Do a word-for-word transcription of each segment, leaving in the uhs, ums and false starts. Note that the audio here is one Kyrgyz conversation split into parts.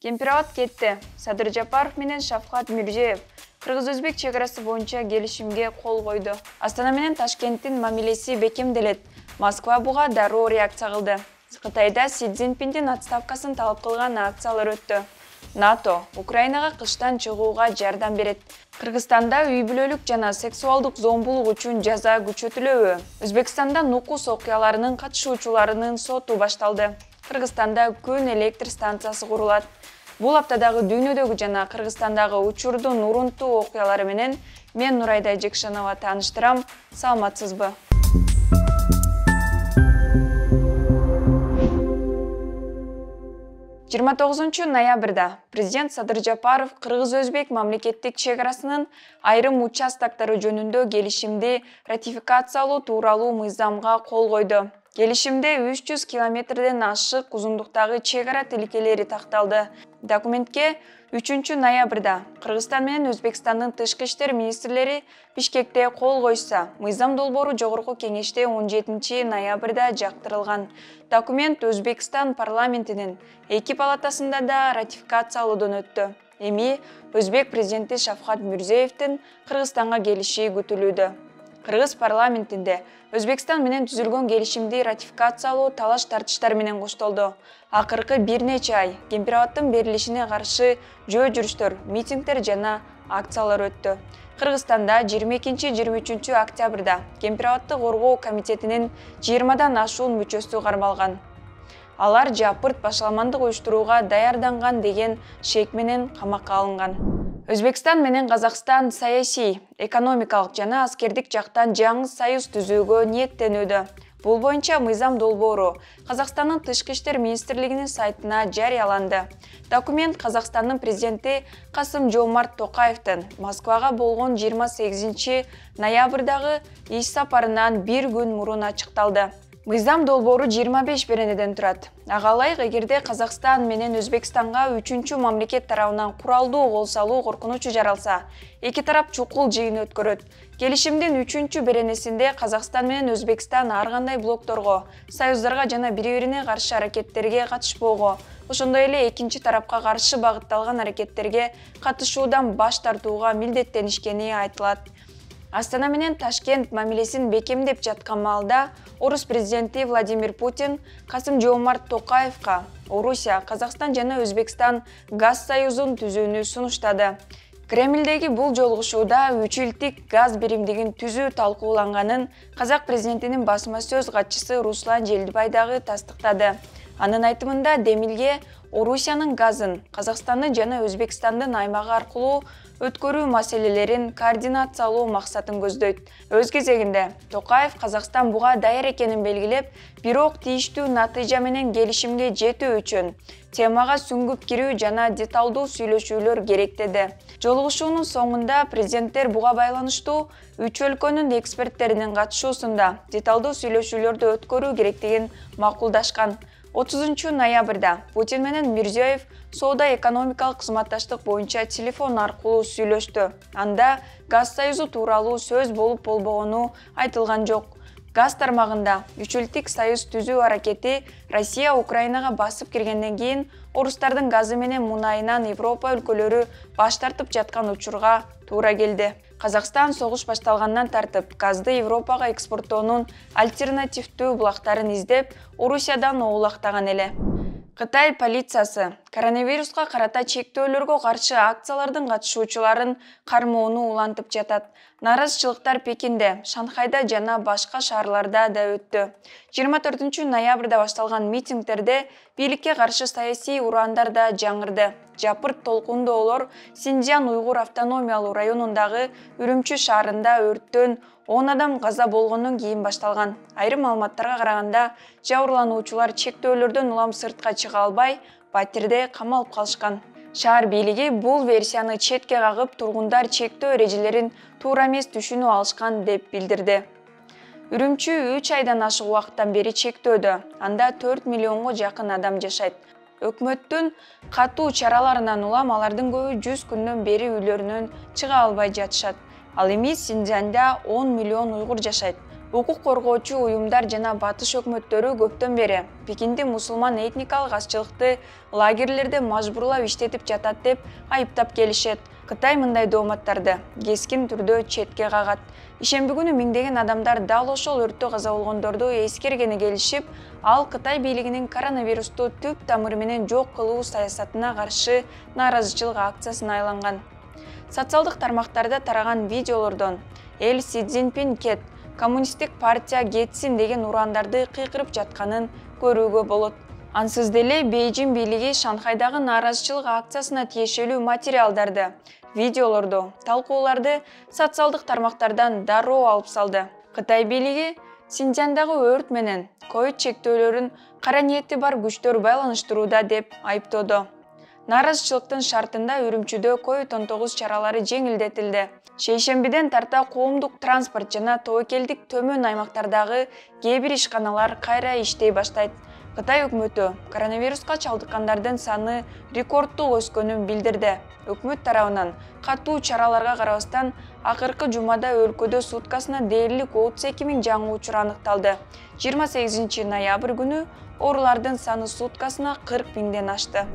Кемпирабад кетти. Садыр Жапаров менен Шавкат Мирзиёев кыргыз-өзбек чек арасы боюнча келишимге кол койду. Астана менен Ташкенттин мамилеси бекемделет. Москва буга дароо реакция кылды. Кытайда Си Цзиньпиндин отставкасын талап кылган акциялар өттү. НАТО Украинага кыштан чыгууга жардам берет. Кыргызстанда үй бүлөлүк жана сексуалдык зомбулук үчүн жаза күчөтүлөбү? Өзбекстанда нукус окуяларынын катышуучуларынын соту башталды. Кыргызстанда күн электр станциясы курулат. Бул аптадагы дүйнөдөгү жана Кыргызстандагы учурдун урунтуу окуялары менен мен Нурайда Жекшанова тааныштырам. Саламатсызбы? жыйырма тогузунчу ноябрда президент Садыр Жапаров кыргыз-өзбек мамлекеттик чек арасынын айрым участоктору жөнүндө келишимди ратификациялоо тууралуу мыйзамга кол койду. Келишимде үч жүз километрден ашык узундуктагы чек ара тилкелери такталды. Документке үчүнчү ноябрда Кыргызстан менен Өзбекстандын тышкы иштер министрлери Бишкекте кол койса, мыйзам долбоору жогорку кеңеште он жетинчи ноябрда жактырылган. Документ Өзбекстан парламентинин эки палатасында да ратификациялоодон өттү. Эми Өзбек президенти Шавкат Мирзиёевдин Кыргызстанга келиши күтүлүүдө. Кыргыз парламентинде Өзбекстан менен түзүлгөн келишимди ратификациялоо талаш тартыштар менен коштолду. Акыркы бир нече ай Кемпирабадтын берилишине каршы жөө жүрүштөр, митингдер жана акциялар өттү. Кыргызстанда жыйырма экинчи жыйырма үчүнчү октябрда Кемпирабадты коргоо комитетинин жыйырмадан ашуун мүчөсү кармалган. Алар жапырт башаламандык уюштурууга даярданган деген шек менен камакка алынган. Өзбекстан менен Казакстан саясий, экономикалык жана аскердик жактан жаңы союз түзүүгө ниеттенүүдө. Бул боюнча мыйзам долбоору Казакстандын тышкы иштер министрлигинин сайтына жарыяланды. Документ Казакстандын президенти Касым-Жомарт Токаевдин Москвага болгон жыйырма сегизинчи ноябрдагы иш сапарынан бир күн мурун ачыкталды. Мыйзам долбоору жыйырма беш беренеден турат. Ага ылайык, эгерде Казакстан менен Өзбекстанга үчүнчү мамлекет тарабынан куралдуу кол салуу коркунучу жаралса, эки тарап чукул жыйын өткөрөт. Келишимдин үчүнчү беренесинде Казакстан менен Өзбекстан ар кандай блокторго, союздарга жана бири-бирине каршы аракеттерге катышпоого, ошондой эле экинчи тарапка каршы багытталган аракеттерге катышуудан баш тартууга милдеттенишкени айтылат. Астана менен Ташкент мамилесин бекемдеп жаткан маалда Орус президенти Владимир Путин Касым-Жомарт Токаевга Орусия, Казакстан жана Өзбекстан газ союзун түзүүнү сунуштады. Кремлдеги бул жолугушууда үч илдик газ биримдигин түзүү талкууланганын Казак президентинин басма сөз катчысы Руслан Желдибай дагы тастыктады. Анын айтымында Демилге Орусиянын газын Казакстандын жана Өзбекстандын аймагы аркылуу өткөрүү маселелерин координациялоо максатын көздөйт. Өз кезегинде Токаев Казакстан буга даяр экенин белгилеп, бирок тийиштүү натыйжа менен келишимге жетүү үчүн темага сүңгүп кирүү жана деталдуу сүйлөшүүлөр керек деди. Жолугушуунун соңунда президенттер буга байланыштуу үч өлкөнүн эксперттеринин катышуусунда деталдуу сүйлөшүүлөрдү өткөрүү керектигин макулдашкан. отузунчу ноябрда Путин менен Мирзиёев соода-экономикалык кызматташтык боюнча телефон аркылуу сүйлөштү. Анда газ союзу тууралуу сөз болуп болбогону айтылган жок. Газ тармагында үч илдик союз түзүү аракети Россия Украинага басып киргенден кийин орустардын газы менен мунайынан Европа өлкөлөрү баш тартып жаткан учурга туура келди. Казакстан согуш башталгандан тартып газды Европага экспорттоонун альтернативдүү булактарын издеп, Орусиядан оолактаган эле. Кытай полициясы коронавируска карата чектөөлөргө каршы акциялардын катышуучуларын кармоону улантып жатат. Наразычылыктар Пекинде, Шанхайда жана башка шаарларда да өттү. жыйырма төртүнчү ноябрда башталган митингдерде бийликке каршы саясий ураандар да жаңырды. Жапырт толкундоолор Синьцзян уйгур автономиялуу районундагы Үрүмчү шаарында өрттөн он адам каза болгондон кийин башталган. Айрым маалыматтарга караганда, жабырлануучулар чектөөлөрдөн улам сыртка чыга албай, батирде камалып калышкан. Шаар бийлиги бул версияны четке кагып, тургундар чектөө эрежелерин туура эмес түшүнүп алышкан деп билдирди. Үрүмчү үч айдан ашык убакыттан бери чектөөдө. Анда төрт миллионго жакын адам жашайт. Өкмөттүн катуу чараларынан улам алардын көбү жүз күндөн бери үйлөрүнөн чыга албай жатышат. Ал эми Синьцзянда он миллион уйгур жашайт. Укук коргоочу уюмдар жана батыш өкмөттөрү көптөн бери Пекинди мусулман этникалык азчылыкты лагерлерде мажбурлап иштетип жатат деп айыптап келишет. Кытай мындай дооматтарды кескин түрдө четке кагат. Ишемби күнү миңдеген адамдар дал ошол өрттө каза болгондорду эскергени келишип, ал Кытай бийлигинин коронавирусту түп тамыры менен жок кылуу саясатына каршы нааразычылык акциясына айланган. Социалдык тармактарда тараган видеолордон эл Си Цзиньпин кет, коммунисттик партия кетсин деген урандарды кыйкырып жатканын көрүүгө болот. Ансыз деле Бейжин бийлиги Шанхайдагы нааразычылык акциясына тиешелүү материалдарды, видеолорду, талкууларды социалдык тармактардан дароо алып салды. Кытай бийлиги Синьцзяндагы өрт менен ковид чектөөлөрүн кара ниети бар күчтөр байланыштырууда деп айыптоодо. Нааразычылыктын шартында Үрүмчүдө ковид он тогуз чаралары жеңилдетилди. Шейшембиден тарта коомдук транспорт жана тобокелдик төмөн аймактардагы кээ бир ишканалар кайра иштей баштайт. Кытай өкмөтү коронавируска чалдыккандардын саны рекорддук өскөнүн билдирди. Өкмөт тарабынан катуу чараларга карабастан акыркы жумада өлкөдө суткасына дээрлик отуз эки миң жаңы учур аныкталды. жыйырма сегизинчи ноябрь күнү оорулардын саны суткасына кырк миңден ашты.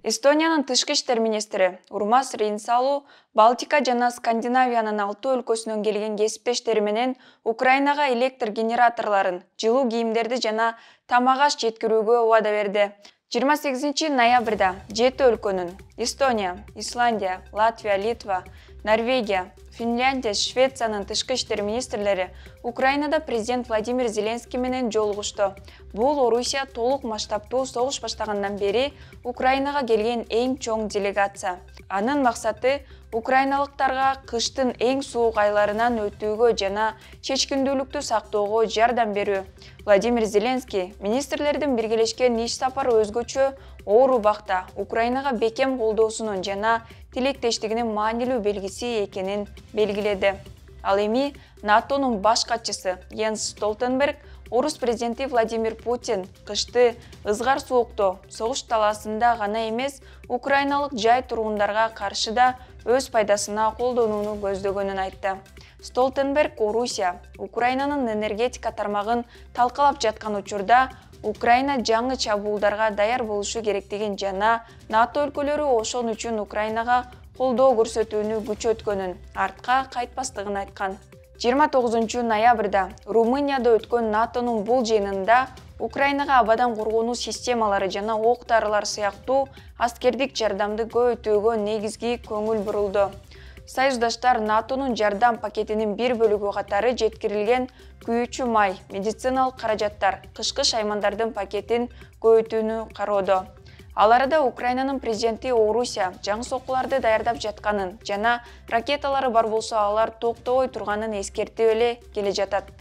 Эстониянын тышкы иштер министри Урмас Рейнсалу Балтика жана Скандинавиянын алты өлкөсүнөн келген кесиптештери менен Украинага электр генераторлорун, жылуу кийимдерди жана тамак аш жеткирүүгө убада берди. жыйырма сегизинчи ноябрда жети өлкөнүн Эстония, Исландия, Латвия, Литва, Норвегия, Финляндия, Швециянын тышкы иштер министрлери Украинада президент Владимир Зеленский менен жолугушту. Бул Орусия толук масштабтуу согуш баштагандан бери Украинага келген эң чоң делегация. Анын максаты украиналыктарга кыштын эң суук айларынан өтүүгө жана чечкиндүүлүктү сактоого жардам берүү. Владимир Зеленский министрлердин биргелешкен иш сапары өзгөчө оор убакта Украинага бекем колдоосунун жана тилектештигинин маанилүү белгиси экенин белгиледи. Ал эми НАТОнун баш катчысы Йенс Столтенберг орус президенти Владимир Путин кышты ызгар суукту согуш талаасында гана эмес, украиналык жай тургундарга каршы да өз пайдасына колдонууну көздөгөнүн айтты. Столтенберг Орусия Украинанын энергетика тармагын талкалап жаткан учурда Украина жаңы чабуулдарга даяр болушу керектигин жана НАТО өлкөлөрү ошон үчүн Украинага колдоо көрсөтүүнү күчөткөнүн, артка кайтпастыгын айткан. жыйырма тогузунчу ноябрда Румынияда өткөн НАТОнун бул жыйынында Украинага абадан коргонуу системалары жана ок-дарылар сыяктуу аскердик жардамды көбөйтүүгө негизги көңүл бурулду. Союздаштар НАТОнун жардам пакетинин бир бөлүгү катары жеткирилген күйүүчү май, медициналык каражаттар, кышкы шаймандардын пакетин көбөйтүүнү кароодо. Ал арада Украинанын президенти Орусия жаңы соккуларды даярдап жатканын жана ракеталары бар болсо алар токтобой турганын эскертип эле келе жатат.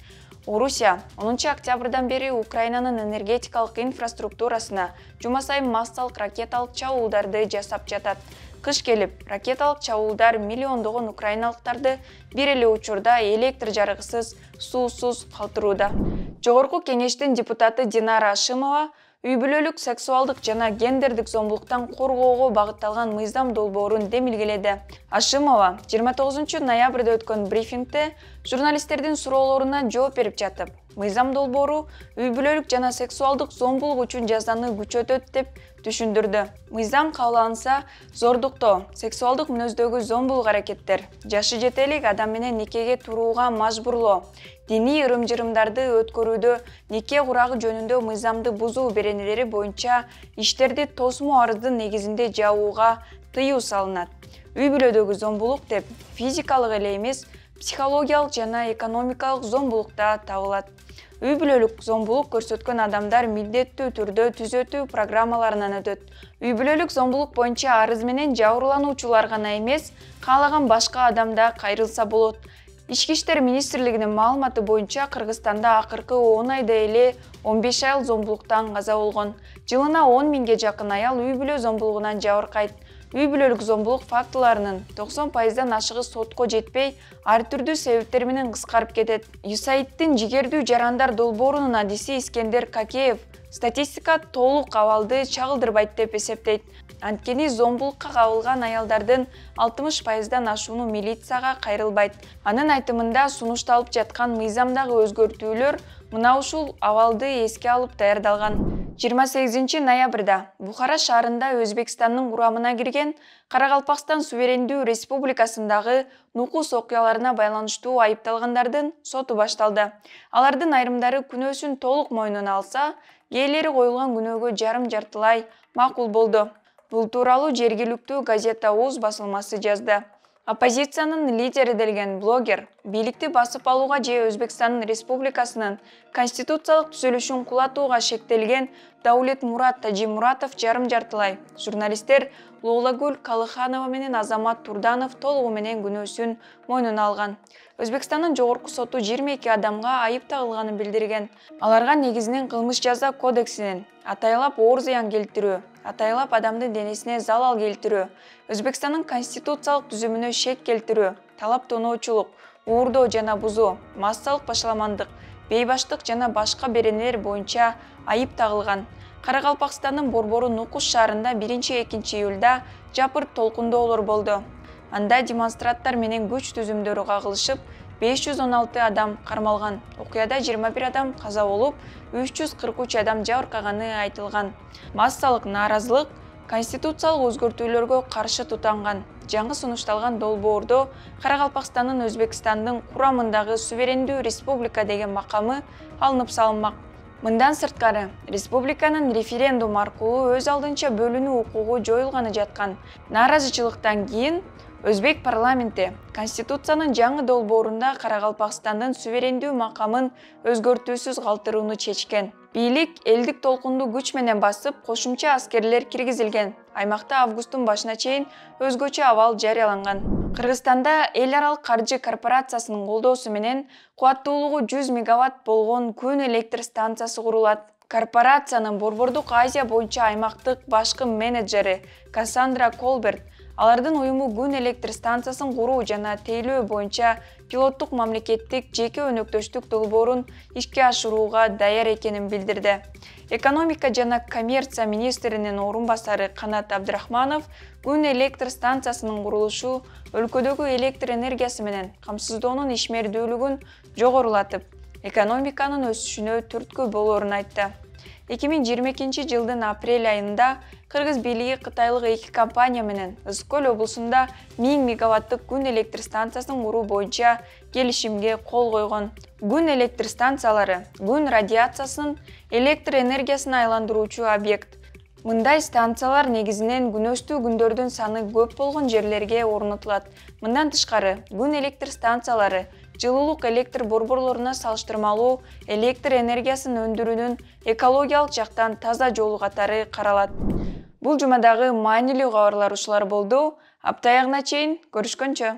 Орусия онунчу октябрдан бери Украинанын энергетикалык инфраструктурасына жума сайын массалык ракеталык чабуулдарды жасап жатат. Кыш келип, ракеталык чабуулдар миллиондогон украиналыктарды бир эле учурда электр жарыгысыз, суусуз калтырууда. Жогорку кеңештин депутаты Динара Ашимова үй-бүлөлүк сексуалдык жана гендердик зомбулуктан коргоого багытталган мыйзам долбоорун демилгеледи. Ашимова жыйырма тогузунчу ноябрда өткөн брифингде журналисттердин суроолоруна жооп берип жатып, мыйзам долбоору үй-бүлөлүк жана сексуалдык зомбулук үчүн жазаны күчөтөт деп түшүндүрдү. Мыйзам кабыл алынса, зордуктоо, сексуалдык мүнөздөгү зомбулук аракеттер, жашы жете элек адам менен никеге турууга мажбурлоо, диний ырым-жырымдарды өткөрүүдө нике курагы жөнүндө мыйзамды бузуу беренелери боюнча иштерди тосмо арыздын негизинде жабууга тыюу салынат. Үй-бүлөдөгү зомбулук деп физикалык эле эмес, психологиялык жана экономикалык зомбулук да табылат. Үй-бүлөлүк зомбулук көрсөткөн адамдар милдеттүү түрдө түзөтүү программаларынан өтөт. Үй-бүлөлүк зомбулук боюнча арыз менен жабырлануучулар гана эмес, каалаган башка адам да кайрылса болот. Ички иштер министрлигинин маалыматы боюнча Кыргызстанда акыркы он айда эле он беш аял зомбулуктан каза болгон. Жылына он миңге жакын аял үй-бүлө зомбулугунан жабыркайт. Үй-бүлөлүк зомбулук фактыларынын токсон пайыздан ашыгы сотко жетпей, ар түрдүү себептер менен кыскарып кетет. ЮСАИДтин жигердүү жарандар долбоорунун адиси Искендер Какеев статистика толук абалды чагылдырбайт деп эсептейт. Анткени зомбулукка кабылган аялдардын алтымыш пайыздан ашууну милицияга кайрылбайт. Анын айтымында сунушталып жаткан мыйзамдагы өзгөртүүлөр мына ушул абалды эске алып даярдалган. жыйырма сегизинчи ноябрда Бухара шаарында Өзбекстандын курамына кирген Каракалпакстан суверендүү республикасындагы нукус окуяларына байланыштуу айыпталгандардын соту башталды. Алардын айрымдары күнөөсүн толук мойнуна алса, кээделери коюлган күнөөгө жарым-жартылай макул болду. Бул тууралуу жергиликтүү газета Уз басылмасы жазды. Оппозициянын лидери делген блогер бийликти басып алууга же Өзбекстан Республикасынын конституциялык түзүлүшүн кулатууга шектелген Даулетмурат Тажимуратов жарым-жартылай. Журналисттер Луулагүл Калыханова менен Азамат Турданов толугу менен күнөөсүн мойнуна алган. Өзбекстандын жогорку соту жыйырма эки адамга айып тагылганын билдирген. Аларга негизинен кылмыш жаза кодексинин атайлап оор зыян келтирүү, атайлап адамдын денесине залал келтирүү, Өзбекстандын конституциялык түзүмүнө шек келтирүү, талап тоноочулук, уурдоо жана бузуу, массалык башаламандык, бейбаштык жана башка беренелер боюнча айып тагылган. Каракалпакстандын Борбору Нукус шаарында биринчи-экинчи июлда жапырт толкундоолор болду. Анда демонстранттар менен күч түзүмдөрү кагылышып, беш жүз он алты адам кармалган. Окуяда жыйырма бир адам каза болуп, үч жүз кырк үч адам жабыркаганы айтылган. Массалык нааразылык конституциялык өзгөртүүлөргө каршы тутанган. Жаңы сунушталган долбоордо Каракалпакстандын Өзбекстандын курамындагы суверендүү республика деген макамы алынып салынмак. Мындан сырткары, республиканын референдум аркылуу өз алдынча бөлүнүү укугу жоюлганы жаткан. Нааразычылыктан кийин Өзбек парламенти Конституциянын жаңы долбоорунда Каракалпакстандын суверендүү макамын өзгөртүүсүз калтырууну чечкен. Бийлик элдик толкунду күч менен басып, кошумча аскерлер киргизилген. Аймакта августтун башына чейин өзгөчө абал жарыяланган. Кыргызстанда эл аралык каржы корпорациясынын колдоосу менен кубаттуулугу жүз мегаватт болгон күн электр станциясы курулат. Корпорациянын Борбордук Азия боюнча аймактык башкы менеджери Кассандра Колберт алардын уюму күн электр станциясын куруу жана тейлөө боюнча пилоттук мамлекеттик жеке өнөктөштүк долбоорун ишке ашырууга даяр экенин билдирди. Экономика жана коммерция министринин орун басары Канат Абдрахманов күн электр станциясынын курулушу өлкөдөгү электр энергиясы менен камсыздоонун ишмердүүлүгүн жогорулатып, экономиканын өсүшүнө түрткү болоорун айтты. эки миң жыйырма экинчи жылдын апрель айында Кыргыз бийлиги кытайлык эки компания менен Ысык Көл облусунда миң мегаваттык күн электр станциясын куруу боюнча келишимге кол койгон. Күн электр станциялары күн радиациясын электр энергиясына айландыруучу объект. Мындай станциялар негизинен күнөштүү күндөрдүн саны көп болгон жерлерге орнотулат. Мындан тышкары, күн электр станциялары жылуулук электр борборлоруна салыштырмалуу электр энергиясын өндүрүүнүн экологиялык жактан таза жолу катары каралат. Бул жумадагы маанилүү кабарлар ушулар болду. Апта аягына чейин көрүшкөнчө.